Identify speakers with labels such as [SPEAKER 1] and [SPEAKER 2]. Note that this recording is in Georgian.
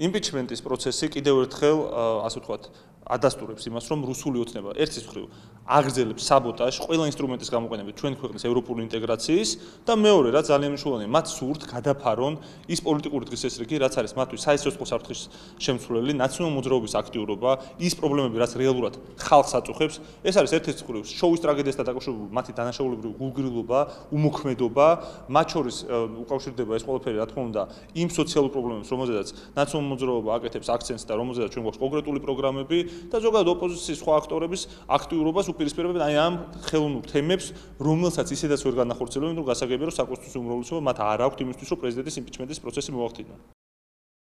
[SPEAKER 1] იმპიჩმენტის პროცესი კიდევ ერთხელ, ასე ვთქვათ, ადასტურებს იმას, რომ რუსული ოცნება ერთის მხრივ აგრძელებს საბოტაჟს ყველა ინსტრუმენტის გამოყენებით ჩვენ ქვეყნის ევროპული ინტეგრაციის და მეორე, რაც ძალიან მნიშვნელოვანია, მათ სურთ გადაფარონ ის პოლიტიკური დღესასრიგი, რაც არის მათთვის საერთო საფრთხის შემცვლელი, ნაციონალურ მოძრაობის აქტიურობა, ის პრობლემები, რაც რეალურად ხალხს აწუხებს, ეს არის ერთ-ერთი მხრივ შოუის ტრაგედიასთან დაკავშირებული მათი დანაშაულებრივი გულგრილობა, უმოქმედობა, მათ შორის უკავშირდება ეს ყველაფერი, რა თქმა უნდა, იმ სოციალურ პრობლემებს, რომელზედაც ნაციონალური მოძრაობა აკეთებს აქცენტს და რომელზედაც ჩვენ გვაქვს კონკრეტული პროგრამები და ზოგადად ოპოზიციის სხვა აქტორების აქტიურობას უპირისპირებენ აი ამ ხელოვნურ თემებს, რომელსაც ისედაც ვერ განახორციელებენ, რომ გასაგებია, რომ საკონსტიტუციო უმრავლესობა მათ არ აქვთ იმისთვის, რომ პრეზიდენტის იმპიჩმენტის პროცესი მოახდინონ.